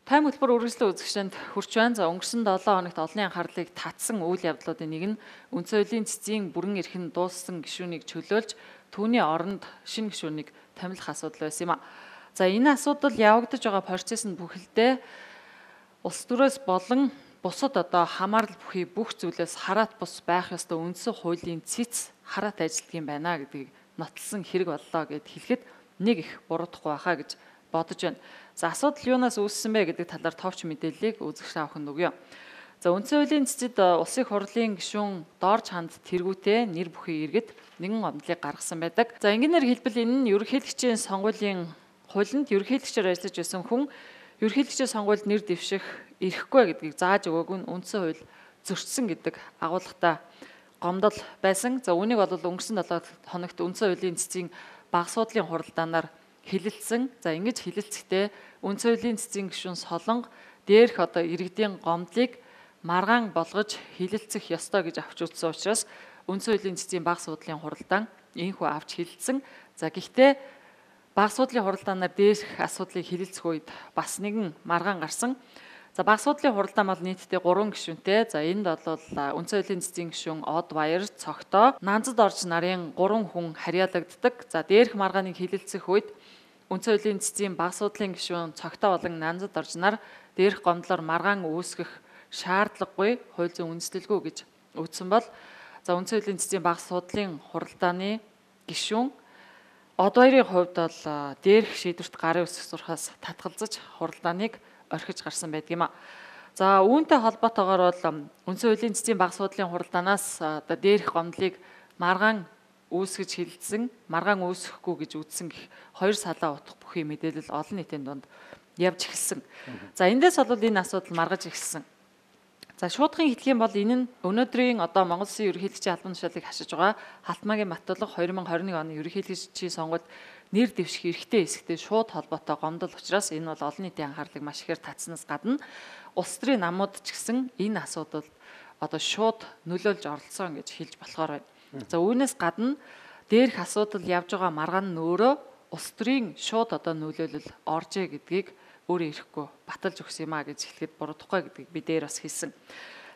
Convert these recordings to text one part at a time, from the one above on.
Тайм хөтөлбөр үргэлжлэн үзэгчдэнд хүрч байна. За өнгөрсөн 7 хоногт олонний анхаарлыг татсан үйл явдлуудын нэг нь үндсэн хуулийн цэцгийн бүрэн эрхэнд дууссан гишүүнийг чөлөөлж түүний оронд шинэ гишүүнийг томилох асуудал байсан юм а. За энэ асуудал явагдаж байгаа процесс нь бүхэлдээ улс төрөөс болон бусад хамаарал бүхий бүх зүйлээс хараат бус байх ёстой үндсэн хуулийн цэц хараат ажилтг юм байна гэдгийг нотлсон хэрэг боллоо гэд хэлэхэд нэг их буруудахгүй байхаа гэж бодож байна. За асуудал юунаас үүссэн бэ гэдэг талаар товч мэдээллийг үзэгч авахын өгье. За үндсэн хуулийн цэцэд улсын хурлын гишүүн дорж ханд тэргүүтээ нэр бүхий иргэд нэгэн гомдлыг гаргасан байдаг. За ингээнээр хэлбэл энэ нь ерөнхийлөгчийн сонгуулийн хуулинд ерөнхийлөгчөөр ажиллаж байсан хүн ерөнхийлөгчийн сонгуульд нэр дэвших эрхгүй гэдгийг зааж өгөөг нь үндсэн хууль зөрчсөн гэдэг агуулгатай гомдол байсан. За үүнийг бол өнгөрсөн 7 хоногт үндсэн хуулийн цэцгийн бага суудлын хуралдаанаар хилэлцсэн. За ингэж хилэлцэхдээ үндсэн хуулийн цэцгийн гишүүн Солонго дээрх иргэдийн гомдлыг маргаан болгож хилэлцэх ёстой гэж авч үзсэн учраас үндсэн хуулийн цэцгийн бага суудлын хуралдаан энэхүү авч хилэлцсэн. За гэхдээ бага суудлын хуралдаанаар дээрх асуудлыг хилэлцэх үед бас нэгэн маргаан гарсан. За бага суудлын хуралдаан бол нийтдээ 3 гишүүнтэй. За энд бол үндсэн хуулийн цэцгийн гишүүн Од Баяр, Цогтоо, Нанзад орж нарын 3 хүн харьяалагддаг. За дээрх маргааныг хилэлцэх үед үндсэн хуулийн цэцгийн бага суудлын гишүүн Цогтоо болон Нанзад орж нар дээрх гомдлоор маргаан үүсгэх шаардлагагүй хууль зүйн үндэслэлгүй гэж үзсэн бол за үндсэн хуулийн цэцгийн бага суудлын хуралдааны гишүүн Од Баярын хувьд бол дээрх шийдвэрт гарын үсэх зурхаас татгалзаж хуралдааныг орхиж гарсан байдаг юм а. За үүнтэй холбоотойгоор бол үндсэн хуулийн цэцгийн бага суудлын хуралдаанаас дээрх гомдлыг маргаан үүсгэж хилэлцэн, маргаан үүсэхгүй гэж үзсэн гэх хоёр салаа утга бүхий мэдээлэл олон нийтийн дунд явж эхэлсэн. За эндээс бол энэ асуудал маргаж эхэлсэн. За шуудхан хэлэх юм бол энэ нь өнөөдрийн Монгол Улсын ерөнхийлөгчийн албан тушаалыг хашиж байгаа Халтмаагийн Маттулга 2021 оны ерөнхийлөгчийн сонгуульд нэр дэвших эрхтэй хэсэгтэй шууд холбоотой гомдол учраас энэ бол олон нийтийн анхаарлыг маш ихээр татснаас гадна улс төрийн намууд ч гэсэн энэ асуудалд шууд нөлөөлж оролцсон гэж хэлж болохоор байна. За үүнээс гадна дээрх асуудал явж байгаа маргаан нь өөрөө улс төрийн шууд нөлөөлөл оржээ гэдгийг өөрөө ирэхгүй баталж өгсөн юм а гэж хэлэхэд буруудахгүй гэдгийг би дээр бас хэлсэн.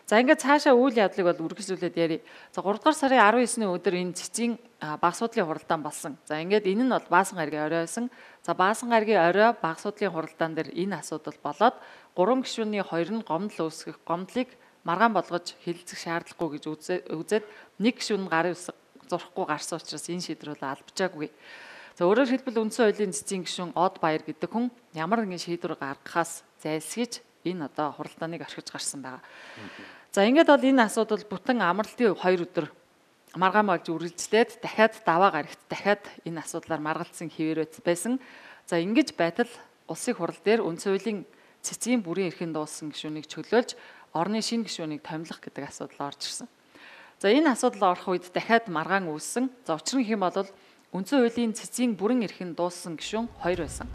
За ингээд цаашаа үйл явдлыг бол үргэлжлүүлээд ярив. За 3 дугаар сарын 19-ний өдөр энэ цэцгийн бага суудлын хуралдаан болсон. За ингээд энэ нь бол Баасан гаригийн орой байсан. За Баасан гаригийн орой бага суудлын хуралдаан дээр энэ асуудал болоод 3 гишүүний 2 нь гомдол үүсгэх гомдлыг маргаан болгож хилэлцэх шаардлагагүй гэж үзээд нэг гишүүн нь гарын үсэг зурхгүй гарсан учраас энэ шийдвэр бол албажаагүй. За өөрөөр хэлбэл үндсэн хуулийн цэцгийн гишүүн Од Баяр гэдэг хүн ямар нэгэн шийдвэр гаргахаас зайлсхийж энэ хуралдааныг орхиж гарсан байгаа. За ингээд бол энэ асуудал бүтэн амралтын 2 өдөр маргаан болж үргэлжлээд дахиад даваа гарагт дахиад энэ асуудлаар маргалдсан хിവэр байсан. За ингэж байтал улсын хурал дээр үндсэн хуулийн цэцгийн бүрийн эрхэнд дууссан гишүүнийг чөлөөлж орны шинэ гишүүнийг томилох гэдэг асуудал орж ирсэн. За энэ асуудал орох үед дахиад маргаан үүссэн. За учир нь хэм бол үндсэн хуулийн цэцгийн бүрэн эрхэнд дууссан гишүүн 2 байсан.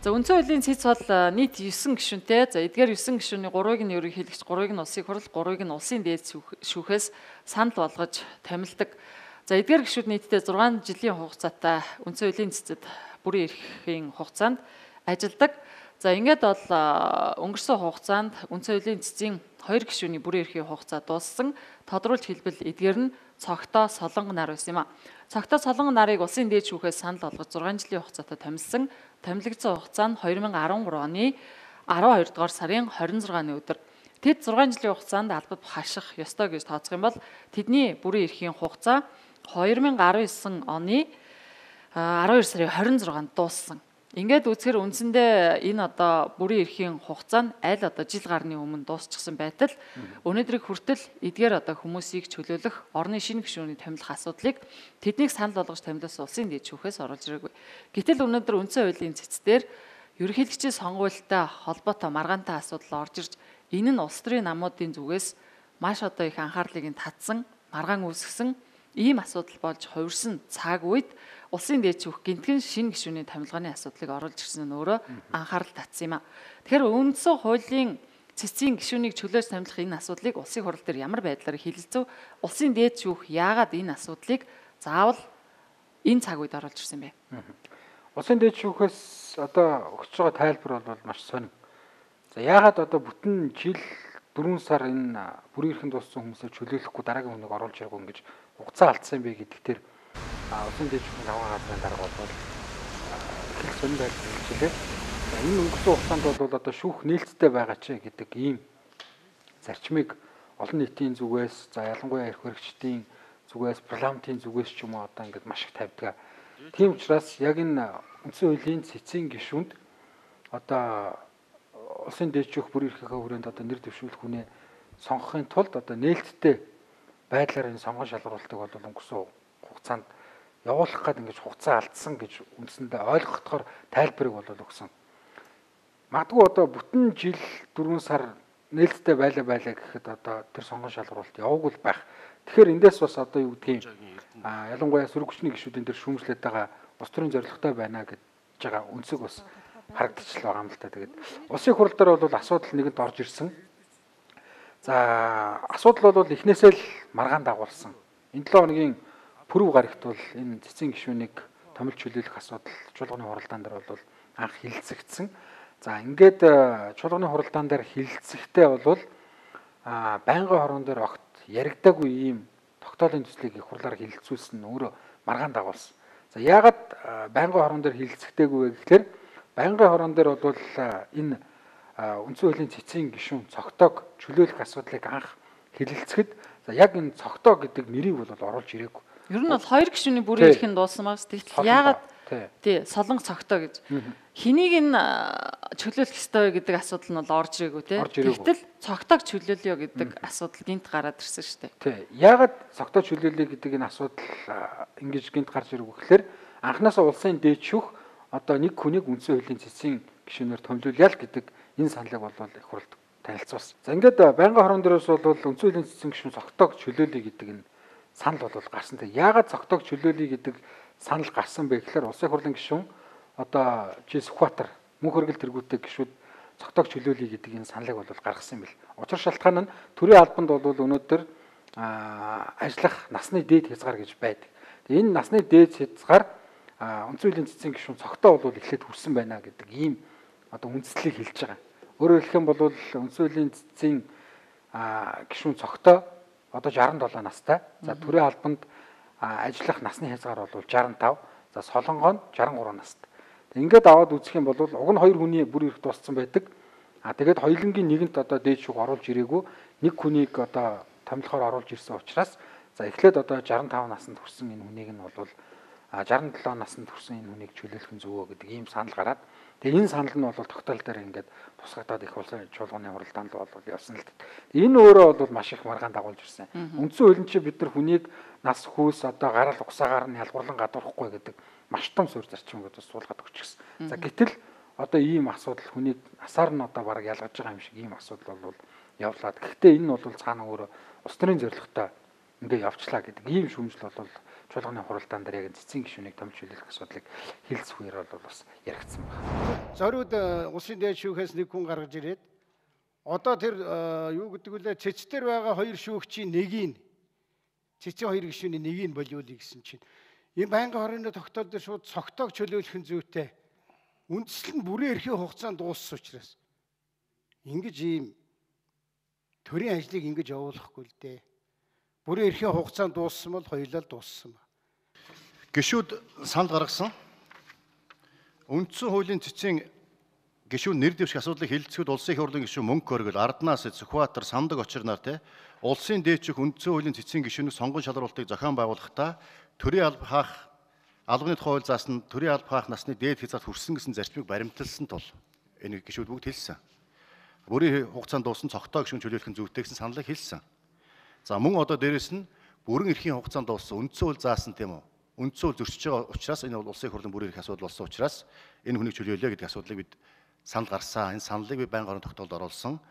За үндсэн хуулийн цэц бол нийт 9 гишүүнтэй. За эдгээр 9 гишүүний 3-ыг нь ерөнхийлөгч, 3-ыг нь улсын хурал, 3-ыг нь улсын дээд шүүхээс санал болгож томилдог. За эдгээр гишүүд нийтдээ 6 жилийн хугацаатай үндсэн хуулийн цэцэд бүрэн эрхийн хугацаанд ажилладаг. За ингээд бол өнгөрсөн хугацаанд үндсэн хуулийн цэцгийн 2 гишүүний бүрэн эрхийн хугацаа дууссан. Тодруулж хэлбэл эдгээр нь Цогтоо, Солонго нар байсан юм а. Цогтоо, Солонго нарыг улсын дээд шүүхээс санал болгож 6 жилийн хугацаатай томилсон. Томилогдсон хугацаа нь 2013 оны 12 дугаар сарын 26-ны өдөр. Тэд 6 жилийн хугацаанд албад хаших ёстой гэж тооцох юм бол тэдний бүрэн эрхийн хугацаа 2019 оны 12 сарын 26-нд дууссан. Ингээд үзэхээр үндсэндээ энэ бүрэн эрхийн хугацаа нь аль жил гарны өмнө дуусчихсан байтал өнөөдрийг хүртэл эдгээр хүмүүсийг чөлөөлөх орны шинэ гишүүний томилох асуудлыг тэднийг санал болгож томилсон улсын дээд шүүхээс оруулж ирээгүй. Гэтэл өнөөдөр үндсэн хуулийн цэцдэр ерөнхийлөгчийн сонгуультай холбоотой маргаантай асуудал орж ирж энэ нь улс төрийн намуудын зүгээс маш их анхаарлыг нь татсан, маргаан үүсгэсэн ийм асуудал болж хувирсан цаг үед улсын дээд шүүх гинтгэн шинэ гишүүний томилгооны асуудлыг оруулж ирсэн нь өөрөө анхаарал татсан юм а. Тэгэхээр үндсэн хуулийн цэцгийн гишүүнийг чөлөөж томилох энэ асуудлыг улсын хурал дээр ямар байдлаар хилэлцв? Улсын дээд шүүх яагаад энэ асуудлыг заавал энэ цаг үед оруулж ирсэн бэ? Улсын дээд шүүхээс одоо өгч байгаа тайлбар бол маш сонин. За яагаад одоо бүтэн жил 4 сар энэ бүрийн эрхэнд дууссан хүмүүсээ чөлөөлөхгүй дараагийн хүнийг оруулж ирэх ингэж хугацаа алдсан бэ гэдэг дээр улсын дээд шүүхийн аваа газрын дарга бол их сонин байдлаар хэлжээ. За энэ өнгөрсөн хугацаанд бол одоо шүүх нээлттэй байгаа ч гэдэг ийм зарчмыг олон нийтийн зүгээс за ялангуяа эрх баригчдын зүгээс парламентын зүгээс ч юм уу одоо ингээд маш их тавьдаг. Тийм учраас яг энэ үндсэн хуулийн цэцгийн гишүүнд одоо улсын дээд шүүх бүрийн эрхийнхээ хүрээнд одоо нэр дэвшүүлэх хүнээ сонгохын тулд одоо нээлттэй байдлаар энэ сонгон шалгаруултыг бол өнгөрсөн хугацаанд явуулах гээд ингэж хугацаа алдсан гэж үндсэндээ ойлгохдохоор тайлбарыг бол өгсөн. Магадгүй одоо бүтэн жил 4 сар нээлттэй байлаа гэхэд одоо тэр сонгон шалгаруулалт яваагүй байх. Тэгэхээр эндээс бас одоо юу гэдгийг ялангуяа сөрөг хүчний гишүүдийн дээр шүүмжлээд байгаа улс төрийн зорилготой байна гэж байгаа үнсэг бас харагдчихл байгаа юм л та. Тэгээд улсын хурал дээр бол асуудал нэгэнд орж ирсэн. За асуудал бол эхнээсээ л маргаан дагуулсан. Энэ 7 хоногийн пүрэв гарагт бол энэ цэцгийн гишүүнийг томилж чөлөөлөх асуудал чуулганы хуралдаан дээр бол анх хилцэгдсэн. За ингээд чуулганы хуралдаан дээр хилцэхдээ бол байнгын хорон дээр огт яригдаагүй ийм тогтоолын төслийг их хурлаар хилцүүлсэн нь өөрөө маргаан дагуулсан. За яагаад байнгын хорон дээр хилцэгдээгүй вэ гэхээр байнгын хорон дээр бол энэ үндсэн хуулийн цэцгийн гишүүн цогтойг чөлөөлөх асуудлыг анх хэлэлцэхэд за яг энэ цогтоо гэдэг нэрийг бол оруулж ирээгүй. Ер нь бол хоёр гишүүний бүрийн эрх нь дууссан мас. Тэгтэл яагаад тий солонгос цогтоо гэж хэнийг нь чөлөөлөх ёстой вэ гэдэг асуудал нь бол орж ирээгүй тий. Тэгтэл цогтоог чөлөөлөё гэдэг асуудал гинт гараад ирсэн шүү дээ. Тий. Яагаад цогтоо чөлөөлөё гэдэг энэ асуудал ингэж гинт гарч ирэх вэ гэхээр анхнаасаа улсын дээд шүүх одоо нэг хүнийг үндсэн хуулийн цэцгийн гишүүнээр томилуулъя л гэдэг энэ саналыг бол их хурд танилцуулсан. За ингээд байнгын хорон дээрээс бол үндсэн хуулийн цэцгийн гишүүн цогтоог чөлөөлөё гэдэг энэ санал бол гарсан. Тэг яагаад цогтоог чөлөөлөё гэдэг санал гарсан бэ гэхээр улсын хурлын гишүүн одоо Сүхбаатар мөнх хөргөл тэргүүтэй гишүүд цогтоог чөлөөлөё гэдэг энэ саналыг бол гаргасан юм бэл. Учир шалтгаан нь төрийн албанд бол өнөөдөр ажиллах насны дээд хязгаар гэж байдаг. Тэг энэ насны дээд хязгаар үндсэн хуулийн цэцгийн гишүүн цогтоо бол эхлээд хүрсэн байна гэдэг ийм одоо үндслийг хэлж байгаа. Өөрөөр хэлэх юм бол үндсэн хуулийн цэцгийн гишүүн цогтоо одоо 67 настай. За төрийн албанд ажиллах насны хязгаар бол 65. За солонгоо нь 63 настай. Ингээд аваад үзэх юм бол уг нь хоёр хүний бүр эрх дууссан байдаг. Тэгээд хоёулангийн нэгэнт одоо дээд шүүх оруулж ирээгүй нэг хүнийг одоо томилохоор оруулж ирсэн учраас за эхлээд одоо 65 наснд хүрсэн энэ хүнийг нь бол 67 наснд хүрсэн энэ хүнийг чөлөөлөх нь зөвөө гэдэг ийм санал гараад тэгээ энэ санал нь бол тогтоол дээр ингээд тусгагдаад их улсын чуулганы хуралдаанд бол явсан л дээ. Энэ өөрөө бол маш их маргаан дагуулж ирсэн. Үндсэн хуулийн чи бид нар хүнийг нас хүйс одоо гарал угсаагаар нь ялгуурлан гадуурхгүй гэдэг маш том суурь зарчим гэдэг суулгаад өгч гисэн. За гэтэл одоо ийм асуудал хүнийг насаар нь одоо бараг ялгаж байгаа юм шиг ийм асуудал бол явлаад. Гэхдээ энэ нь бол цаана өөрөө улс төрийн зорилготой ингээд явчлаа гэдэг ийм шүүмжил бол чуулганы хуралдаан дээр яг цэцгийн гишүүнийг томилж чөлөөлөх асуудлыг хэлцэхээр бол бас яригдсан байна. Зориуд улсын дээд шүүхээс нэг хүн гаргаж ирээд одоо тэр юу гэдэг вүлээ цэцтэр байгаа хоёр шүүгчийн нэгийг цэцгийн хоёр гишүүний нэгийг болиулъя гэсэн чинь энэ байнгын хорооны тогтоол дээр шууд цогтоог чөлөөлөх нь зүйтэй. Үндсэл нь бүрийн эрхийн хугацаанд дууссан учраас ингэж ийм төрийн ажлыг ингэж явуулахгүй л дээ. Бүрийн эрхийн хугацаанд дууссан бол хоёулаа л дууссан ба. Гишүүд санал гаргасан. Үндсэн хуулийн цэцгийн гишүүн нэр дэвших асуудлыг хэлэлцэхэд улсын их хурлын гишүүн мөнх хөргөл, Арднаас, Сүхбаатар, Самдаг очирнаар улсын дээд шүүх үндсэн хуулийн цэцгийн гишүүнийг сонгон шалгаруулалтыг зохион байгуулахдаа төрийн алба хаах албаны тухай хууль заасан төрийн алба хаах насны дээд хязгаарт хүрсэн гэсэн зарчмыг баримталсан тул энэ гишүүд бүгд хэлсэн. Бүрийн хугацаанд дууссан цогтоо гишүүн чөлөөлөх нь зүйтэй гэсэн саналыг хэлсэн. За мөн одоо дээрэс нь бүрэн эрхийн хугацаанд дууссан үндсэн хууль заасан тийм үү? Үндсэн хууль зөрчиж байгаа учраас энэ бол улсын их хурлын бүрэн эрх асуудал болсон учраас энэ хүнийг чөлөөлөе гэдэг асуудлыг бид санал гаргасан. Энэ саналыг би байнгын хорон тогтоолд оруулсан.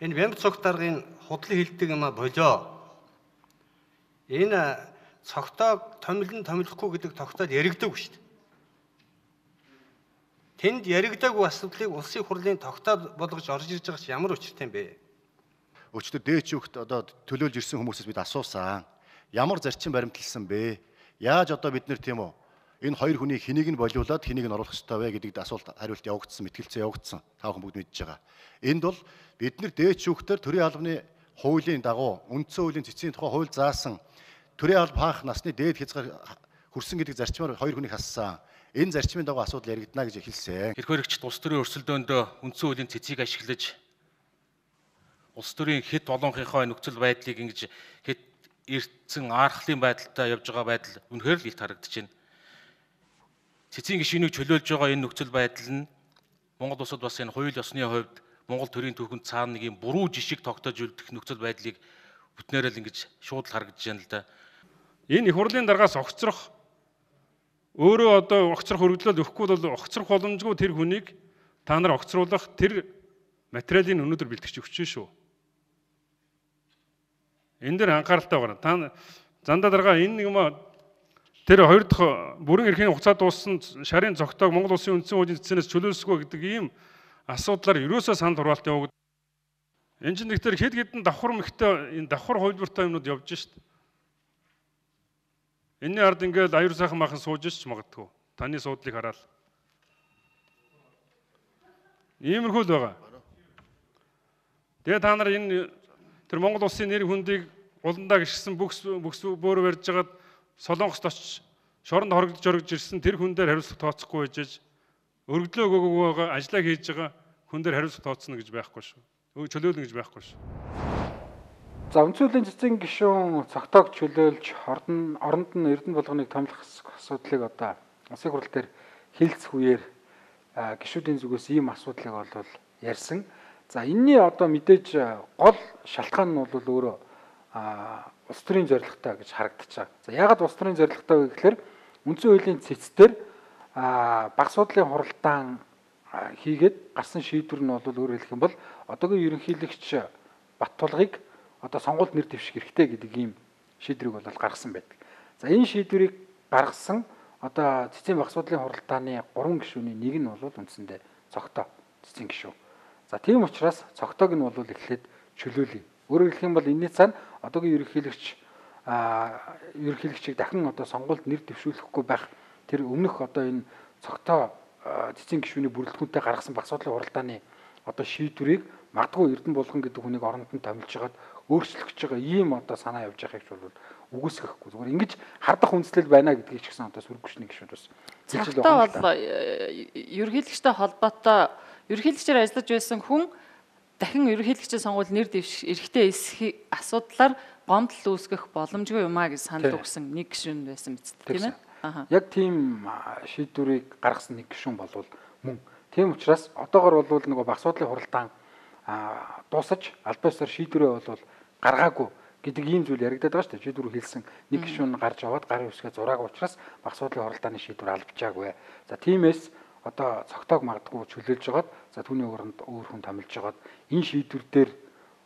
Энэ бямб цогт даргын худлын хилдэг юм а болоо. Энэ цогтоог томилохгүй гэдэг тогтоол яригдаагүй шүү дээ. Тэнд яригдаагүй асуудлыг улсын их хурлын тогтоол болгож орж ирж байгаа ч ямар учиртай юм бэ? Өчтөр дээд шүүхт одоо төлөөлж ирсэн хүмүүсээс бид асуусан. Ямар зарчим баримталсан бэ? Яаж одоо бид нэр тийм үү? Энэ хоёр хүний хэнийг нь болиулаад хэнийг нь оруулах ёстой вэ гэдэгт асуулт хариулт явагдсан, мэтгэлцээ явагдсан. Та бүхэн бүгд мэдж байгаа. Энд бол бид нар дээд шүүхтэр төрийн албаны хуулийн дагуу үндсэн хуулийн цэцгийн тухай хууль заасан төрийн алба хаах насны дээд хязгаар хүрсэн гэдэг зарчмаар хоёр хүнийг хассан. Энэ зарчмын дагуу асуудал яригдана гэж хэлсэн. Хэрэг хөрөгчд улс төрийн өрсөлдөөнд үндсэн хуулийн цэцгийг ашиглаж улс төрийн хэд олонхийнхоо нөхцөл байдлыг ингэж хэд эртсэн архлын байдалтай явж байгаа байдал үнэхээр л илт харагдаж байна. Цэцгийн гишүүнийг чөлөөлж байгаа энэ нөхцөл байдал нь Монгол улсад бас энэ хууль ёсны хувьд Монгол төрийн түүхэнд цаана нэг юм буруу жишг тогтоож үлдэх нөхцөл байдлыг бүтнээрээ л ингэж шууд л харагдаж байна л да. Энэ их хурлын даргаас огцрох өөрөө одоо огцрох өргөдлөл өгөхгүй бол огцрох боломжгүй тэр хүнийг та нар огцруулах тэр материалын өнөөдөр бэлтгэж өгч шүү. Энэ дээр анхааралтай байна. Та зандаа дарга энэ нэг юм тэр хоёр дахь бүрэн эрхийн хугацаа дууссан шарын цогтойг Монгол Улсын үндсэн хуулийн цэцнээс чөлөөлсгөө гэдэг ийм асуудлаар ерөөсөө санал хураалт явагдав. Энэ чинь нэгтэр хэд хэдэн давхар мэгтэй энэ давхар хувилбартай юмнууд явж шít. Энэний ард ингээд аюур сайхан махан сууж ш магадгүй. Таны суудлыг хараад. Иймэрхүү л байгаа. Тэгээ та нар энэ тэр Монгол Улсын нэр хүндийг уландаа гიშгсэн бүкс бөөрө барьж жагаад Солонгост очиж шоронд хоригдож ирсэн тэр хүн дээр хариуцлага тооцохгүй байж өргөдлөө өгөөгүй байгаа ажиллаа хийж байгаа хүн дээр хариуцлага тооцно гэж байхгүй шүү. Чөлөөлнө гэж байхгүй шүү. За үндсэн хуулийн цэцгийн гишүүн цогтойг чөлөөлж оронд нь эрдэнэ болгоныг томилох асуудлыг одоо улсын хурал дээр хэлцэх үеэр гишүүдийн зүгээс ийм асуудлыг бол ярьсан. За энэний одоо мэдээж гол шалтгаан нь бол өөрөө улс төрийн зорилготой гэж харагдаж байгаа. За яагаад улс төрийн зорилготой вэ гэхээр үндсэн хуулийн цэцтэр багц судлалын хуралдаан хийгээд гарсан шийдвэр нь бол өөрөөр хэлэх юм бол одоогийн ерөнхийлөгч Баттулгыг одоо сонгуульд нэр дэвших хэрэгтэй гэдэг ийм шийдвэрийг бол гаргасан байдаг. За энэ шийдвэрийг гаргасан одоо цэцгийн багц судлалын хуралдааны 3 гишүүний нэг нь бол үндсэндээ цогтой цэцгийн гишүүн. За тийм учраас цогтойг нь бол эхлээд чөлөөлье. Өөрөөр хэлэх юм бол энэний цаана одоогийн ерөнхийлөгчийг дахин одоо сонгуульд нэр дэвшүүлэхгүй байх тэр өмнөх одоо энэ цогтой цэцгийн гишүүний бүрэлдэхүүнтэй гаргасан багц судлалын хуралдааны одоо шийдвэрийг магадгүй Эрдэнэ Булган гэдэг хүнийг оронд нь томилж хагаад өөрчлөх гэж байгаа ийм одоо санаа явж байгааг ч бол үгүйсгэхгүй. Зүгээр ингэж хардах үндслэл байна гэдгийг ч гэсэн одоо сүргүчний гишүүд бас хэлж байгаа юм байна. Ерөнхийлөгчтэй холбоотой ерөнхийлөгчээр ажиллаж байсан хүн дахин ерөнхийлөгчийн сонгуульд нэр дэвших эрхтэй эсэх асуудлаар гомдол үүсгэх боломжгүй юм а гэж санал өгсөн нэг гишүүн байсан биз тийм ээ. Яг тийм шийдвэрийг гаргасан нэг гишүүн болвол мөн. Тийм учраас одоогор бол нөгөө багц судлалын хуралдаан дуусаж албан ёсоор шийдвэрээ бол гаргаагүй гэдэг ийм зүйл яригдаад байгаа шүү дээ. Шийдвэр хэлсэн нэг гишүүн гарч аваад гарын үсгээ зураагүй учраас багц судлалын хуралдааны шийдвэр албажаагүй. За тиймээс одоо цогтойг магадгүй чөлөөлж жагаад за түүний өрөнд өөр хүн томилж жагаад энэ шийдвэр дээр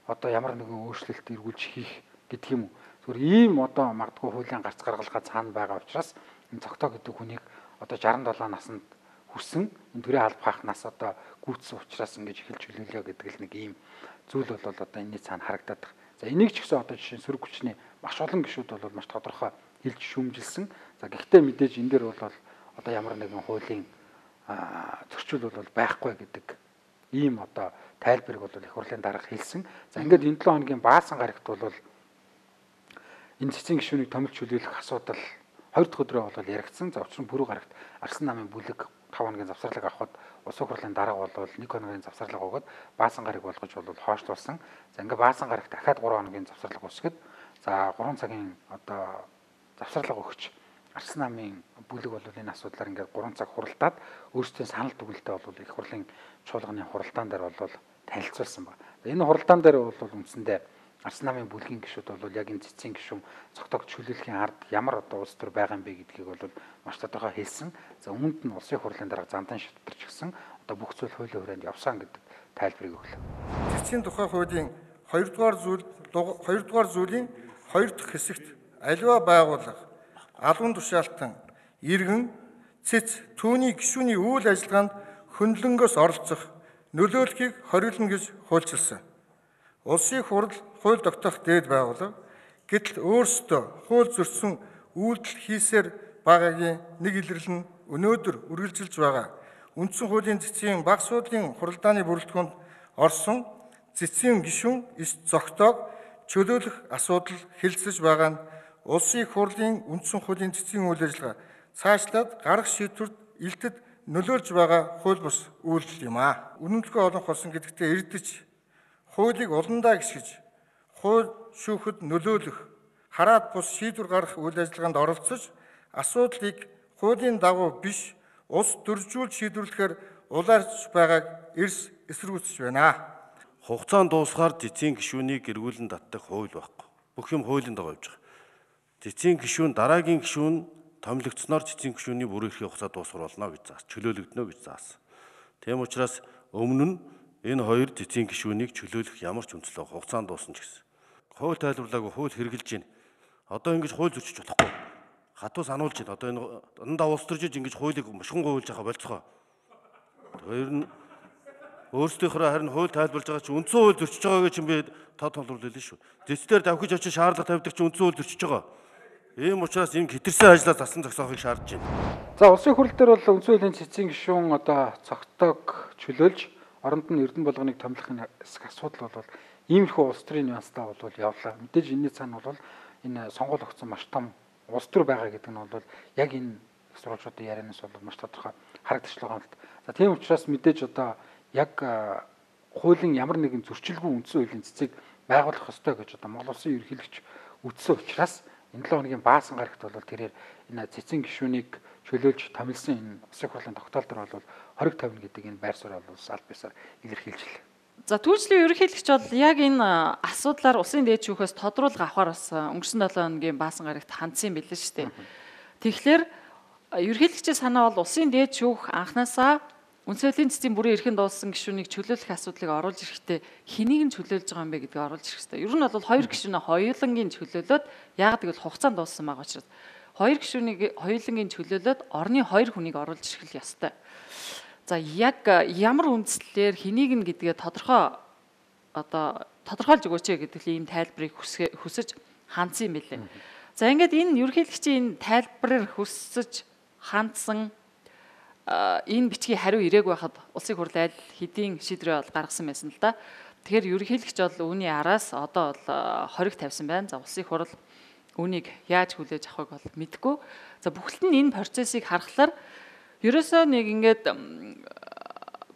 одоо ямар нэгэн өөрчлөлт эргүүлж хийх гэдэг юм уу. Зүгээр ийм одоо магадгүй хуулийн гарц гаргалгаа цаана байгаа учраас энэ цогтой гэдэг хүнийг одоо 67 наснд хүрсэн энэ төрийн алба хаах нас одоо гүйцсэн учраас ингэж эхэлж чөлөөлөө гэдэг л нэг ийм зүйл бол одоо энэний цаана харагдаад байна. За энийг ч гэсэн одоо жишээ нь сөрөг хүчний маш олон гишүүд бол маш тодорхой хэлж шүүмжилсэн. За гэхдээ мэдээж энэ дээр бол одоо ямар нэгэн хуулийн зөрчил бол байхгүй гэдэг ийм одоо тайлбарыг бол их хурлын дарга хэлсэн. За ингээд энэ 7 хоногийн баасан гарагт бол энэ цэцгийн гишүүнийг томилж чөлөөлөх асуудал 2 дахь өдрөө бол яригдсан. За учир нь пүрэв гарагт Арслан намын бүлэг 5 хоногийн завсарлаг авахд улсын хурлын дарга бол 1 хоногийн завсарлаг өгөөд баасан гараг болгож бол хойшлуулсан. За ингээд баасан гарагт дахиад 3 хоногийн завсарлаг үсгэд за 3 цагийн одоо завсарлаг өгч Арслан намын бүлэг бол энэ асуудлаар ингээд 3 цаг хуралдаад өөрсдөө санал дүгнэлтээ бол их хурлын чуулганы хуралдаан дээр бол танилцуулсан байна. Энэ хуралдаан дээр бол үндсэндээ Арслан намын бүлгийн гишүүд бол яг энэ цэцгийн гишүүн цогтойг чөлөөлөхийн ард ямар одоо улс төр байгаа юм бэ гэдгийг бол маш тодорхой хэлсэн. За үүнд нь улсын хурлын дарга зандан шийдвэрч гисэн одоо бүх зүйл хуулийн хүрээнд явсан гэдэг тайлбарыг өглөө. Цэцгийн тухай хуулийн 2 дугаар зүйлийн 2 дахь хэсэгт аливаа байгууллага албан тушаалтан иргэн цэц түүний гишүүний үйл ажиллагаанд хөндлөнгөөс оролцох нөлөөллийг хориглоно гэж хуульчилсан. Улсын хурал хууль тогтоох дээд байгууллага гэтэл өөрсдөө хууль зөрчсөн үйлдэл хийсээр байгаагийн нэг илрэл нь өнөөдөр үргэлжилж байгаа. Үндсэн хуулийн цэцгийн бага суудлын хуралдааны бүрэлдэхүүнд орсон цэцгийн гишүүн эс зогтоог чөлөөлөх асуудал хэлэлцэж байгаа нь улсын их хурлын үндсэн хуулийн цэцгийн үйл ажиллагаа цаашлаад гарах шийдвэрт илтэд нөлөөлж байгаа хууль бус үйлдэл юм аа. Үнэмлэхүй олонх болсон гэдэгтээ эрдэж хуулийг уландаа гисгэж хууль шүүхэд нөлөөлөх хараад бус шийдвэр гаргах үйл ажиллагаанд оролцож асуудлыг хуулийн дагуу биш улс төржүүл шийдвэрлэхээр улаарч байгааг эрс эсэргүүцэж байна. Хугацаанд дуусгаар цэцгийн гишүүнийг эргүүлэн татдаг хууль байхгүй. Бүх юм хуулийн дагуу явж байгаа. Цэцгийн гишүүн дараагийн гишүүн томилогдсноор цэцгийн гишүүний бүрэн эрхийн хугацаа дуусгар болно гэж заасан. Чөлөөлөгдөнө гэж заасан. Тийм учраас өмнө нь энэ хоёр цэцгийн гишүүнийг чөлөөлөх ямар ч үндэслэг хугацаанд дуусна ч гэсэн. Хууль тайлбарлаагүй хууль хэрэгжилж байна. Одоо ингэж хууль зөрчиж болохгүй. Хатуу сануулж байна. Одоо энэ дандаа улс төржиж ингэж хуулийг мушгин гуйлж байгаа болцгоо. Тэр нь өөрсдийнхөө харин хууль тайлбарлаж байгаа чинь үндсэн хууль зөрчиж байгаагээ чинь би тод толрууллаа шүү. Зэцдэр давхиж очиж шаардлага тавьдаг чинь үндсэн хууль зөрчиж байгаа. Ийм учраас энэ хэтэрсэн ажлаа засан зогсоохыг шаардж байна. За улсын хурал дээр бол үндсэн хуулийн цэцгийн гишүүн одоо цогтойг чөлөөлж оронд нь эрдэнэ болгоныг томилохын асуудал бол иймэрхүү улс төрийн нюанстай бол явлаа. Мэдээж энэний цаана бол энэ сонгуул өгсөн маш том улс төр байгаа гэдэг нь бол яг энэ сурвалжуудын ярианаас бол маш тодорхой харагдаж байгаа юм л. За тийм учраас мэдээж одоо яг хуулийн ямар нэгэн зөрчилгүй үндсэн хуулийн цэцгийг байгуулах ёстой гэж одоо Монгол Улсын ерөнхийлөгч үздсэн учраас энэ 7 хоногийн баасан гарагт бол тэрээр энэ цэцгийн гишүүнийг чөлөөлж томилсон энэ улсын хурлын тогтоол дээр бол 20-50 гэдэг энэ байр суурь бол аль бисаар илэрхийлжлээ. За түүжлийн ерөнхийлөгч бол яг энэ асуудлаар улсын дээд шүүхээс тодруулга авахар бас өнгөрсөн 7 хоногийн баасан гарагт хандсан билээ шүү дээ. Тэгэхээр ерөнхийлөгчийн санаа бол улсын дээд шүүх анханасаа үндсэн хуулийн цэцгийн бүрийн эрхэнд дууссан гишүүнийг чөлөөлөх асуудлыг оруулж ирэхдээ хэнийг нь чөлөөлж байгаа юм бэ гэдгийг оруулж ирэх хэрэгтэй. Ер нь бол хоёр гишүүнээ хоёулангийн чөлөөлөөд яг гэвэл хугацаанд дууссан байгаа учраас хоёр гишүүнийг хоёулангийн чөлөөлөөд орны хоёр хүнийг оруулж ирэх ёстой. За яг ямар үндслээр хэнийг нь гэдгээ тодорхойлж өгөөч гэдэг ийм тайлбарыг хүсэж хандсан юм билээ. За ингээд энэ ерөнхийлөгчийн тайлбараар хүсэж хандсан энэ бичгийн хариу ирээгүй байхад улсын хурл аль хэдийн шийдвэр гаргасан байсан л да. Тэгэхээр ерөнхийлөгч бол үүний араас одоо бол хориг тавьсан байна. За улсын хурл үүнийг яаж хүлээж авахыг бол мэдэхгүй. За бүхэлд нь энэ процессыг харахаар ерөөсөө нэг ингээд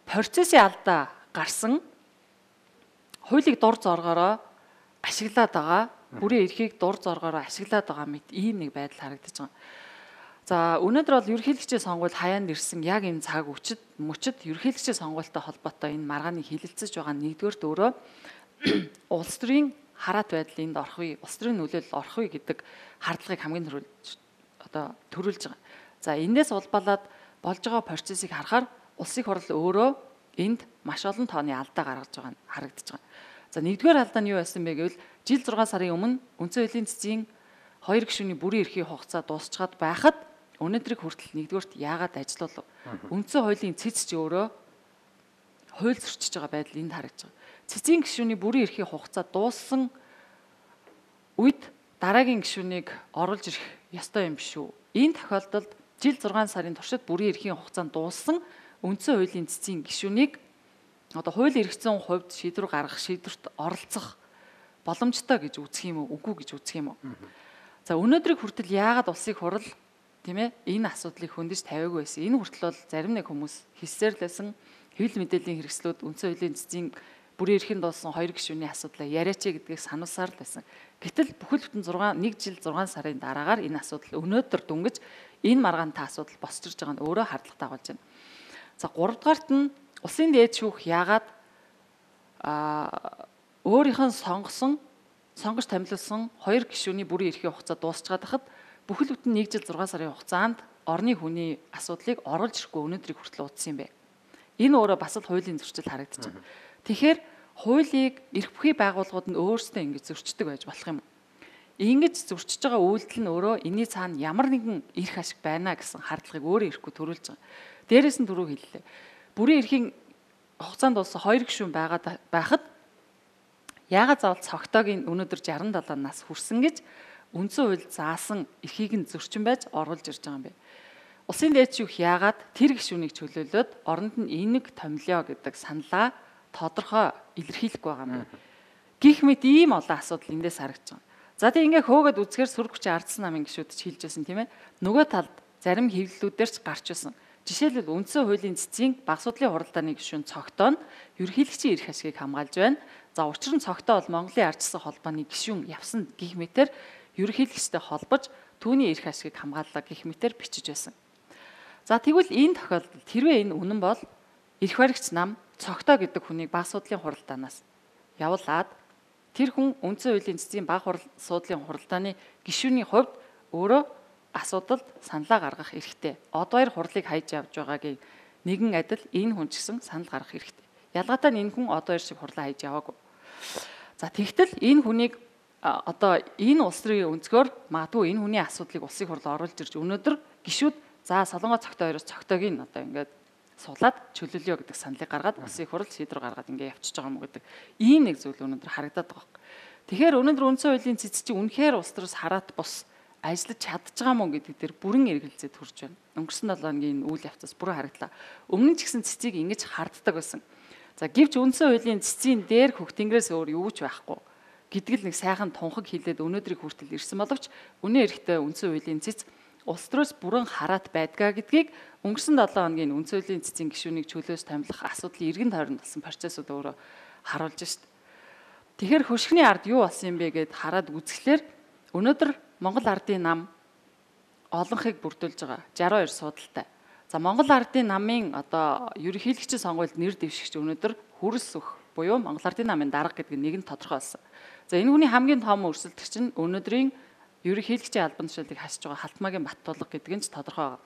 процессын алдаа гарсан хуулийг дур зоргоороо ашиглаад байгаа, бүрийн эрхийг дур зоргоороо ашиглаад байгаа мэт ийм нэг байдал харагдаж байгаа. За өнөөдөр бол ерөнхийлөгчийн сонгуульд хаяанд ирсэн яг энэ цаг мөчид ерөнхийлөгчийн сонгуультай холбоотой энэ маргааныг хилэлцэж байгаа нэгдүгээрт өөрөө улс төрийн хараат байдал энд орох үе, улс төрийн нөлөөлөл орох үе гэдэг хардлагыг хамгийн төрүүлж байгаа. За эндээс улбалаад болж байгаа процессыг харахаар улсын хурл өөрөө энд маш олон тооны алдаа гаргаж байгаа нь харагдаж байгаа. За нэгдүгээр алдаа нь юу байсан бэ гэвэл жил 6 сарын өмнө үндсэн хуулийн цэцгийн хоёр гишүүний бүрийн эрхийн хугацаа дуусчаад байхад өнөөдрийг хүртэл нэгдүгээрт яагаад ажиллав? Үндсэн хуулийн цэц ч өөрөө хууль зөрчиж байгаа байдал энд харагдаж байгаа. Цэцгийн гишүүний бүрийн эрхийн хугацаа дууссан үед дараагийн гишүүнийг оруулж ирэх ёстой юм биш үү? Энэ тохиолдолд жил 6 сарын туршид бүрийн эрхийн хугацаанд дууссан үндсэн хуулийн цэцгийн гишүүнийг одоо хууль эргэцсэн хувьд шийдвэр гаргах, шийдвэрт оролцох боломжтой гэж үзэх юм уу? Үгүй гэж үзэх юм уу? За өнөөдрийг хүртэл яагаад улсын хурл тийм ээ энэ асуудлыг хөндөж тавиагүй байсан. Энэ хүртэл бол зарим нэг хүмүүс хэлсээр л байсан. Хэвлэл мэдээллийн хэрэгслүүд үндсэн хуулийн цэцгийн бүрийн эрхэнд дууссан хоёр гишүүний асуудлаа яриач гэдгийг сануулсаар л байсан. Гэтэл бүхэл бүтэн 1 жил 6 сарын дараагаар энэ асуудал өнөөдөр дүнгэж энэ маргаантай асуудал босчирж байгаа нь өөрөө хардлагатай болж байна. За 3 дугаарт нь улсын дээд шүүх яагаад өөрийнх нь сонгож томилсон хоёр гишүүний бүрийн эрхийн хугацаа дуусчаад хахад бүхэл бүтэн 1 жил 6 сарын хугацаанд орны хүний асуудлыг оруулж ирэхгүй өнөөдрийг хүртэл уудсан юм бэ. Энэ өөрөө бас л хуулийн зөрчил харагдаж байна. Тэгэхээр хуулийг эрх бүхий байгууллагууд нь өөрсдөө ингэж зөрчдөг байж болох юм. Ингэж зөрчиж байгаа үйлдэл нь өөрөө энэний цаана ямар нэгэн эрх ашиг байна гэсэн хардлагыг өөрөө ирэхгүй төрүүлж байгаа. Дээрээс нь түрүү хэллээ. Бүрийн эрхийн хугацаанд болсон хоёр гишүүн байхад яагаад заавал цогтойг өнөөдөр 67 нас хүрсэн гэж үндсэн хууль заасан эрхийг нь зөрчин байж оруулж ирж байгаа юм бэ. Улсын дээд шүүх яагаад тэр гишүүнийг чөлөөлөөд оронд нь энийг томилё гэдэг саналаа тодорхой илэрхийлэх байгаа юм бэ. Гэх мэт ийм олон асуудал эндээс харагдаж байгаа. За тийм ингээ хөөгд үзэхээр сүрэг хүчийн ардсан намын гишүүд ч хэлжсэн тийм ээ. Нөгөө талд зарим хэвлэлүүдээр ч гарч ирсэн. Жишээлбэл үндсэн хуулийн цэцгийн баг судлалын хуралдааны гишүүн цогтоо нь ерөнхийлөгчийн эрх ашгийг хамгаалж байна. За учир нь цогтоо бол Монголын ардчсан холбооны гишүүн явсан гэх мэтэр ерөнхийлөгчтэй холбож түүний эрх ашгийг хамгааллаа гэх мэтэр бичиж байсан. За тэгвэл энэ тохиолдолд хэрвээ энэ үнэн бол эрх баригч нам цогтоо гэдэг хүнийг баг судлалын хуралдаанаас явуулаад тэр хүн үндсэн хуулийн цэцгийн баг судлалын хуралдааны гишүүний хувьд өөрөө асуудалд саналаа гаргах эрхтэй. Одоо 2 хурлыг хайж явж байгаагийн нэгэн адил энэ хүн ч гэсэн санал гаргах эрхтэй. Ялгаатай нь энэ хүн одоо 2 шиг хурлаа хайж яваагүй. За тэгтэл энэ хүнийг одоо энэ улс төрийн өнцгөр магадгүй энэ хүний асуудлыг улсын хурлд оруулж ирж өнөөдөр гишүүд за Солонгос цогтой хоёроос цогтойг нь одоо ингээд суулаад чөлөөлөё гэдэг саналыг гаргаад улсын хурл шийдвэр гаргаад ингээд явчихж байгаа юм гэдэг ийм нэг зүйл өнөөдөр харагдаад байгаа юм. Тэгэхээр өнөөдөр үндсэн хуулийн цэц чинь үнэхээр улс төрөөс хараат бус ажиллаж чадж байгаа мó гэдэг дээр бүрэн эргэлзээд хүрч байна. Өнгөрсөн 7 хоногийн үйл явцаас бүрэн харагдлаа. Өмнө нь ч гэсэн цэцийг ингэж харддаг байсан. За гэвч үндсэн хуулийн цэцийн дээр хөх тэнгэрээс өөр юу ч байхгүй гэдэг л нэг сайхан тунхаг хилээд өнөөдрийг хүртэл ирсэн боловч үнэн эрэхтэй үндсэн хуулийн цэц улс төрөөс бүрэн хараат байдгаа гэдгийг өнгөрсөн 7 хоногийн үндсэн хуулийн цэцийн гишүүнийг чөлөөс томилох асуудлын эргэн тойронд болсон процессыг өөрөө харуулж шít. Тэгэхээр хөшгөний ард юу болсон юм бэ гэд хараад үзэхлээр өнөөдөр Монгол ардын нам олонхыг бүрдүүлж байгаа 62 суудалтай. За Монгол ардын намын одоо ерөнхийлөгчийн сонгуульд нэр дэвшигч өнөөдөр хүрэлс өх буюу Монгол ардын намын дарга гэдэг нэг нь тодорхой болсон. За энэ хүний хамгийн том өрсөлдөгч нь өнөөдрийн ерөнхийлөгчийн албан тушаалыг хасж байгаа Халтмаагийн Баттулга гэдэг нь ч тодорхой байгаа.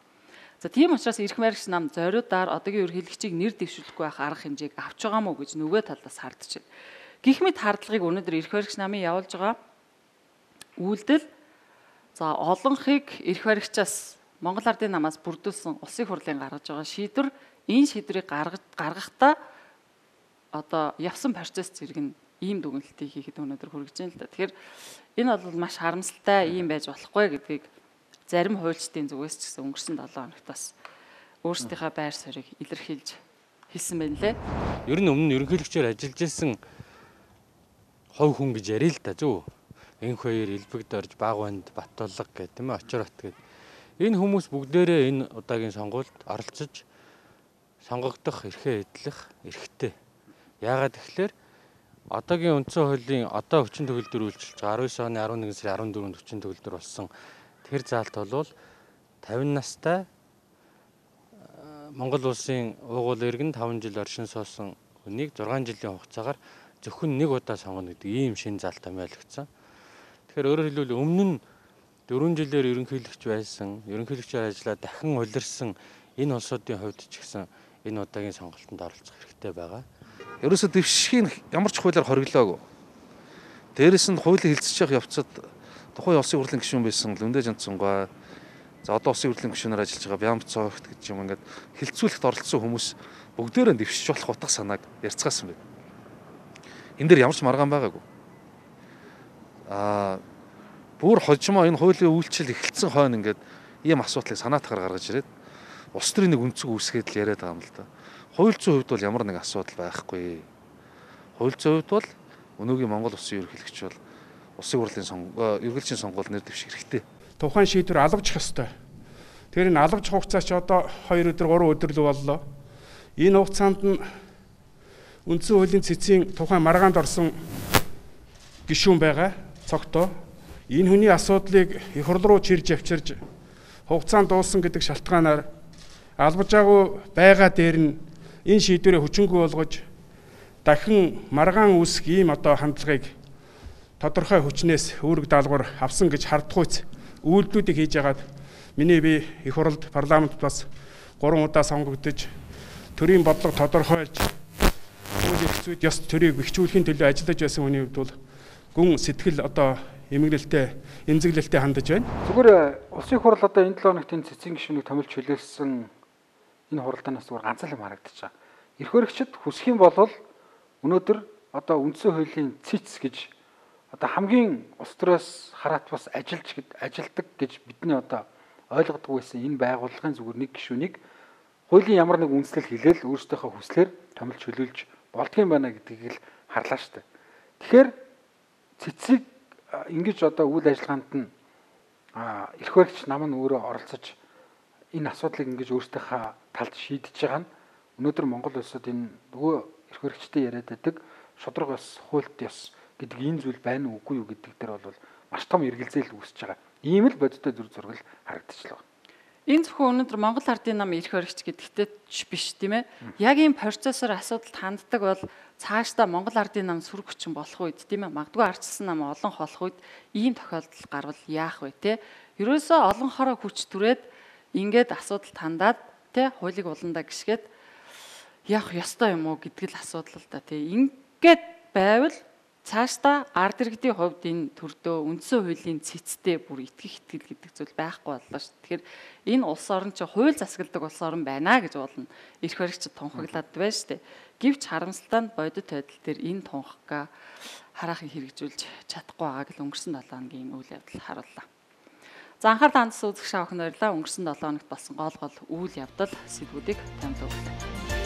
За тийм учраас эрх баригч нам зориудаар одоогийн ерөнхийлөгчийг нэр дэвшүүлэхгүй байх арга хэмжээг авч байгаа мó гэж нөгөө талаас хардж байна. Гэх мэт хардлагыг өнөөдөр эрх баригч намын явуулж байгаа үйлдэл за олонхыг эрх баригчаас Монгол ардын намаас бүрдүүлсэн улсын хурлын гаргаж байгаа шийдвэр энэ шийдвэрийг гаргахдаа одоо явсан процесс зэрэг нь ийм дүгнэлтийг хийхэд өнөөдөр хүргэж байна л да. Тэгэхээр энэ бол маш харамсалтай ийм байж болохгүй гэдгийг зарим хуульчдын зүгээс ч гэсэн өнгөрсөн 7 хоногтоос өөрсдийнхээ байр суурийг илэрхийлж хэлсэн байна лээ. Ер нь өмнө ерөнхийлөгчөөр ажиллаж исэн хов хүн гэж ярил л да зөв. Энх хоёр элбэгд орж Багванд Баттулга гэдэг тийм ээ очор бат гэдэг. Энэ хүмүүс бүгдээрээ энэ удаагийн сонгуульд оролцож сонгогдох эрхээ эдлэх эрхтэй. Яагаад тэгэхээр одоогийн үндсэн хуулийн одоо хүчин төгөлдөр үйлчилж байгаа 19 оны 11 сарын 14-нд хүчин төгөлдөр болсон тэр заалт бол 50 настай Монгол улсын уугуул иргэн 5 жил оршин суусан хүнийг 6 жилийн хугацаагаар зөвхөн нэг удаа сонгоно гэдэг ийм шин заалт томьёологдсон. Тэгэхээр өөрөөр хэлбэл өмнө нь 4 жилээр ерөнхийлөгч байсан, ерөнхийлөгчөөр ажиллаад дахин улирсан энэ улсуудын хувьд ч гэсэн энэ удаагийн сонголтод оролцох хэрэгтэй байгаа. Ерөөсө дэвшхийн ямар ч хуулиар хориглоогүй. Дээрээс нь хуулийн хилцэж явах явцад тухайн улсын хурлын гишүүн байсан Лүндэ Жанцсангаа за одоо улсын хурлын гишүүнээр ажиллаж байгаа Бямб Цогт гэж юм ингээд хилцүүлэхт оролцсон хүмүүс бүгдээрээ дэвшиж болох утга санааг ярьцгаасан байна. Энэ дээр ямар ч маргаан байгаагүй. Бүр хожимоо энэ хуулийн үйлчлэл эхэлсэн хойно ингээд ийм асуудлыг санаатгаар гаргаж ирээд улс төрийн нэг өнцөг үүсгээд л яриад байгаа юм л да. Хууль зүйн хувьд бол ямар нэг асуудал байхгүй. Хууль зүйн хувьд бол өнөөгийн Монгол улсын ерөнхийлөгч бол улсын хурлын ерөнхийлөгчийн сонгуульд нэр дэвших хэрэгтэй. Тухайн шийдвэр алгажих ёстой. Тэр энэ алгажих хугацаа ч одоо 2 өдөр 3 өдөр л боллоо. Энэ хугацаанд нь үндсэн хуулийн цэцгийн тухайн маргаанд орсон гишүүн байгаа цогтоо энэ хүний асуудлыг их хурл руу чирж авчирж хугацаанд дууссан гэдэг шалтгаанаар албаж байгаа дээр нь энэ шийдвэрээ хүчингүй болгож дахин маргаан үүсэх ийм одоо хандлагыг тодорхой хүчнээс үүрэг даалгавар авсан гэж хардгуйц үйлдэлүүдийг хийж ягаад миний би их хурлд парламент бас 3 удаа сонгогдож төрийн бодлого тодорхойлж хууль эрх зүйд ёс төрийг бэхжүүлэхийн төлөө ажиллаж байсан хүний хувьд бол гүн сэтгэл одоо эмгэнэлтэй эмзэглэлтэй хандаж байна. Зүгээр улсын хурл одоо энэ 7 хоногт энэ цэцгийн гишүүнийг томилж хүлээлсэн энэ хуралдаанаас зүгээр ганц л юм харагдаж байгаа. Эрх баригчид хүсэх юм бол өнөөдөр одоо үндсэн хуулийн цэц гэж одоо хамгийн улс төрөөс хараат бас ажилдаг гэж бидний одоо ойлгодог байсан энэ байгууллагын зүгээр нэг гишүүнийг хуулийн ямар нэг үндслэл хэлээл өөрсдийнхөө хүслээр томилж чөлөөлж болдгийм байна гэдгийг л харлаа шүү дээ. Тэгэхээр цэцгийг ингэж одоо үйл ажиллагаанд нь эрх баригч нам нь өөрөө оролцож энэ асуудлыг ингэж өөрсдийнхөө талд шийдэж байгаа нь өнөөдөр Монгол улсад энэ нөгөө эрх баригчтай яриад байдаг шудраг ёс, хуульт ёс гэдэг энэ зүйл байна уу үгүй юу гэдэг дээр бол маш том эргэлзээл үүсэж байгаа. Ийм л бодиттой зүр зураг харагдчихлаа. Энэ зөвхөн өнөөдөр Монгол Ардын нам эрх баригч гэдэгтэй ч биш тийм ээ. Яг ийм процессор асуудалд ханддаг бол цаашдаа Монгол Ардын нам сүрэг хүчин болох үед тийм ээ. Магадгүй ардчилсан нам олон холох үед ийм тохиолдол гарвал яах вэ те? Ерөөсөө олон хороо хүч түрээд ингээд асуудалд хандаад те хуулийг уландаа гიშгээд явах ёстой юм уу гэдэг л асуудал л да тий. Ингээд байвал цаашдаа ард иргэдийн хувьд энэ төрдөө үндсэн хуулийн цэцтэй бүр итгэх итгэл гэдэг зүйл байхгүй боллоо шүү. Тэгэхээр энэ улс орн чи хууль засагладаг улс орн байна гэж болно. Эрх баригчид тунхаглаад байна шүү дээ. Гэвч харамсалтай нь бодит байдал дээр энэ тунхагаа хараахан хэрэгжүүлж чадахгүй байгааг л өнгөрсөн 7 хоногийн үйл явдал харууллаа. За анхаарал хандсан үзэгч аавхан баярлалаа. Өнгөрсөн 7 хоногт болсон гол үйл явдал сэдвүүдийг танд өглөө.